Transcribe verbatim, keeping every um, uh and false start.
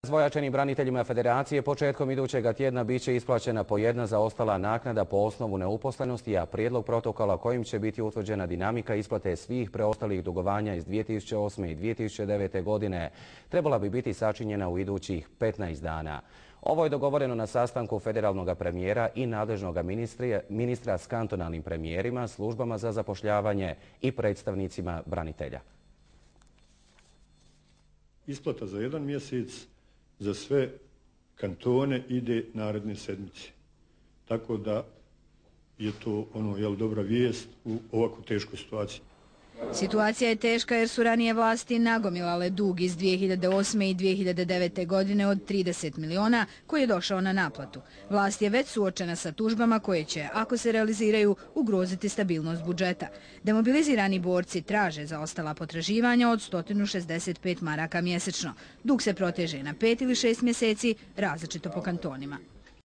Razvojačenim braniteljima Federacije početkom idućega tjedna bit će isplaćena po jedna zaostala naknada po osnovu neuposlenosti, a prijedlog protokola kojim će biti utvrđena dinamika isplate svih preostalih dugovanja iz dvije tisuće osme i dvije tisuće devete. godine trebala bi biti sačinjena u idućih petnaest dana. Ovo je dogovoreno na sastanku federalnog premijera i nadležnog ministra s kantonalnim premijerima, službama za zapošljavanje i predstavnicima branitelja. Isplata za jedan mjesec za sve kantone ide naredne sedmice. Tako da je to ono, jel, dobra vijest u ovako teškoj situaciji. Situacija je teška jer su ranije vlasti nagomilale dug iz dvije hiljade osme i dvije hiljade devete. godine od trideset miliona koji je došao na naplatu. Vlast je već suočena sa tužbama koje će, ako se realiziraju, ugroziti stabilnost budžeta. Demobilizirani borci traže zaostala potraživanja od sto šezdeset pet maraka mjesečno. Dug se proteže na pet ili šest mjeseci, različito po kantonima.